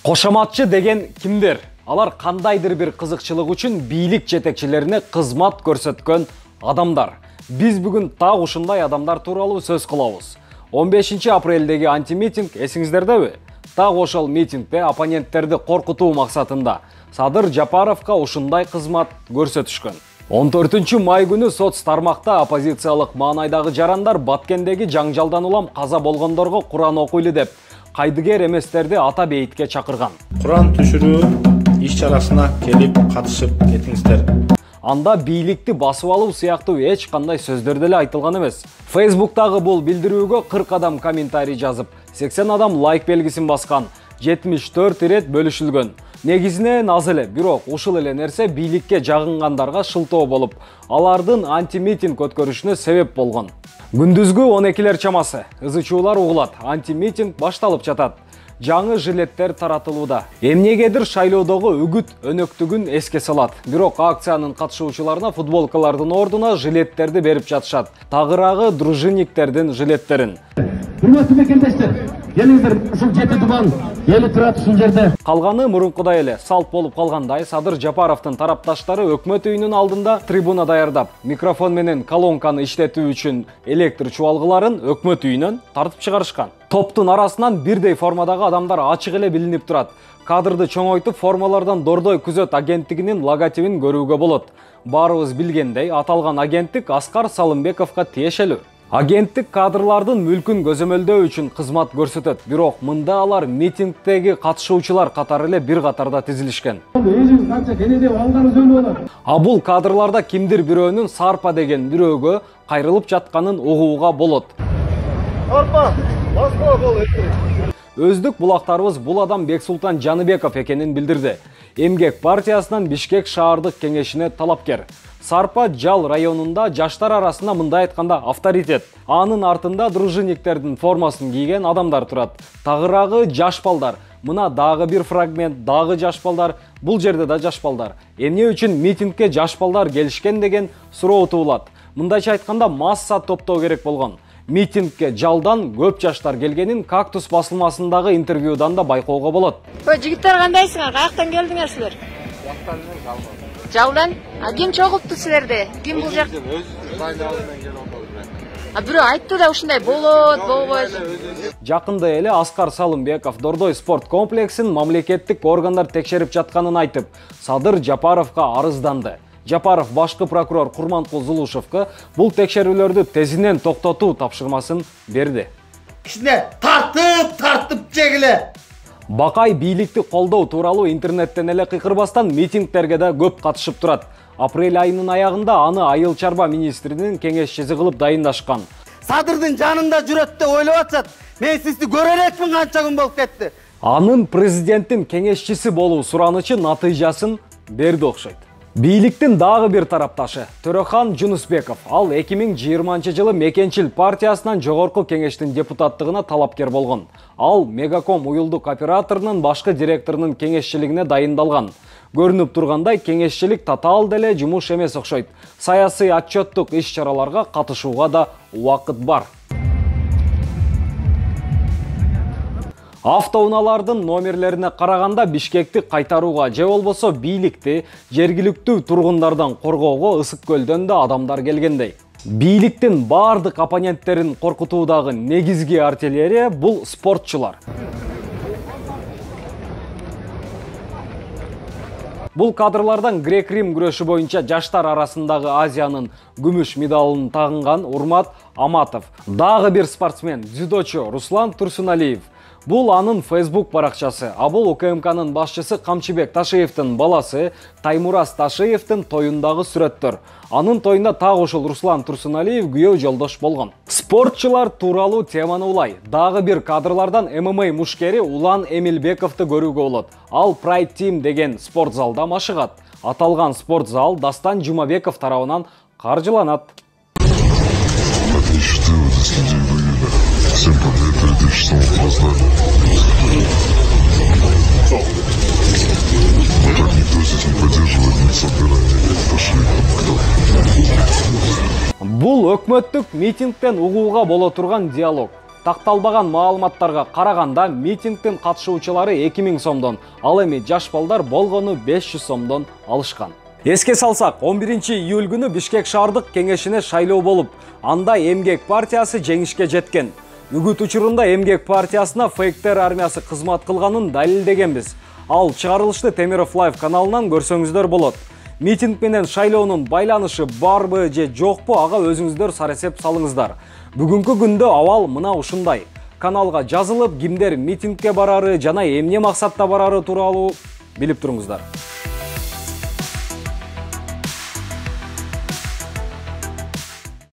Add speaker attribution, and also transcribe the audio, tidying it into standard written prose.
Speaker 1: Кошоматчы деген кимдер? Алар кандайдыр бир кызыкчылык үчүн бийлик жетекчилерине кызмат көрсөткөн адамдар. Биз бүгүн так ушундай адамдар тууралуу сөз кылабыз. 15 апрелдеги антимитинг эсиңиздердеби? Так ошол митингде оппоненттерди коркутуу максатында Садыр Жапаровго ушундай кызмат көрсөтүшкөн. 14 май күнү соц тармакта оппозициялык маанайдагы жарандар Баткендеги жаңжалдан улам каза болгондорго Куран окуйлу деп кайдыгер эместерди ата бейитке чакырган.
Speaker 2: Куран түшүрүү иш-чарасына келип катышып кетиңиздер.
Speaker 1: Анда бийликти басып алуу сыяктуу эч кандай сөздөр деле айтылган эмес. Facebook'тагы бул билдирүүгө 40 адам комментарий жазып, 80 адам лайк белгисин баскан, 74 ирет бөлүшүлгөн. Негизинен аз эле, бирок ушул эле нерсе бийликке жагынгандарга шылтоо болуп, алардын антимитинг өткөрүшүнө себеп болгон. Күндүзгү 12-лер чамасы ызычуулар угулат, антимитинг башталып жатат. Жаңы жилеттер таратылууда. Эмнегедир шайлоодогу үгүт өнөктүгүн эске салат. Бирок акциянын катышуучуларына футболкалардын ордуна жилеттерди берип жатышат. Тагыраагы дружинниктердин жилеттерин.
Speaker 3: Урматтуу мекендештер, келиңиздер, ушул жети дубан эли турат ушул жерде.
Speaker 1: Калганы мурункудай эле салт болуп калгандай, Садыр Жапаровдун тарапташтары өкмөт үйүнүн алдында трибуна даярдап, микрофон менен колонканы иштетүү үчүн электр чубалгыларын өкмөт үйүнөн тартып чыгарышкан. Топтун арасынан бирдей формадагы адамдар ачык эле билинип турат. Кадрды чоңойтуп, формалардан Дордой күзөт агенттигинин логотипин көрүүгө болот. Баарыбыз билгендей, аталган агенттик Аскар Салымбековго тиешелүү. Агенттик кадрлардын мүлкүн көзөмөлдөө үчүн кызмат көрсөтөт, бирок мында алар митингдеги катышуучулар катары эле бир катарда тизилишкен. А бул кадрларда кимдир бирөөнүн Сарпа деген бирөөгө кайрылып жатканын угууга болот. Сарпа, басма бол. Өздүк булактарыбыз бул адам Бексултан Жаныбеков экенин билдирди. Эмгек партиясынан Бишкек шаардык кеңешине талапкер. Сарпа Жал районунда жаштар арасында мындай айтканда авторитет. Анын артында дружинниктердин формасын кийген адамдар турат. Тагыраагы жаш балдар. Мына дагы бир фрагмент, дагы жаш балдар, бул жерде да жаш балдар. Эмне үчүн митингке жаш балдар келишкен деген суроо туулат. Мындайча айтканда масса топтоо керек болгон. Митингке Жалдан көп жаштар келгенин Кактус басылмасындагы интервьюдан да байкоого болот.
Speaker 4: Жигиттер кандайсыңар? Каяктан келдиңер силер? Жалдан? Ким чогултту силерди? Ким бул жак? Бирөө айтты да ушундай болот, болбойт.
Speaker 1: Жакында эле Аскар Салымбеков Дордой спорт комплексин мамлекеттик органдар текшерип жатканын айтып, Садыр Жапаровго арызданды. Жапаров башкы прокурор Курманкул Зулушевго бул текшерүүлөрдү тезинен токтотуу тапшырмасын берди.
Speaker 5: Кичине тартып жегиле.
Speaker 1: Бакай бийликти колдоо тууралуу интернеттен эле кыйкырбастан митингтерге да көп катышып турат. Апрель айынын аягында аны айыл чарба министринин кеңешчиси кылып дайындашкан.
Speaker 5: Садырдын жанында жүрөт деп ойлоп атышат. Мен сизди көрө элекмин, канча күн болуп кетти.
Speaker 1: Анын президенттин кеңешчиси болуу суранычы натыйжасын берди окшойт. Бийликтин дагы бир тарапташы Төрөхан Жунусбеков, ал 2020 жылы Мекенчил партиясынан жогорку кеңештин депутаттыгына талапкер болгон. Ал Мегаком уюлдук операторунун башкы директорунун кеңешчилигине дайындалган. Көрүнүп тургандай, кеңешчилик татаал деле жумуш эмес окшойт. Саясий отчеттук иш-чараларга катышууга да убакыт бар. Автоунаалардын номерлерине караганда Бишкекти кайтарууга же болбосо бийликти жергиликтүү тургундардан коргоого Ысык көлдөн да адамдар келгендей. Бийликтин бардык оппоненттерин коркутуудагы негизги артиллерия бул спортчулар. Бул кадрлардан грек-рим күрөшү боюнча жаштар арасындагы Азиянын күмүш медалын тагынган Урмат Аматов, дагы бир спортсмен дзюдочу Руслан Турсуналиев. Бул анын Facebook баракчасы, а бул УКМКнын башчысы Камчыбек Ташиевдин баласы Таймураз Ташиевдин тоюндагы сүрөттөр. Анын тоюнда так ушул Руслан Турсуналиев күйөө жолдош болгон. Спортчулар тууралуу теманы улай. Дагы бир кадрлардан ММА мушкери Улан Эмилбековду көрүүгө болот. Ал Pride Team деген спорт залда машыгат. Аталган спорт зал Дастан Жумабеков тарабынан каржыланат. Всем привет, 2006 опоздали. Но так никто здесь не поддерживает ни собирание, ни пошли кто. Бул өкмөттүк митингден угууга боло турган диалог. Такталбаган маалыматтарга караганда митингдин катышуучулары 2000 сомдон, ал эми жаш балдар болгону 500 сомдон алышкан. Эске салсак, 11-июль күнү Бишкек шаардык кеңешине шайлоо болуп, анда Эмгек партиясы жеңишке жеткен. Үгүт учурунда Эмгек партиясына фейктер армиясы кызмат кылганын далилдегенбиз. Ал чыгарылышты Темиров Лайв каналынан көрсөңүздөр болот. Митинг менен шайлоонун байланышы барбы же жокпу, ага өзүңүздөр сарасеп салыңыздар. Бүгүнкү күндө абал мына ушундай. Каналга жазылып, кимдер митингке барары жана эмне максатта барары тууралуу билип туруңуздар.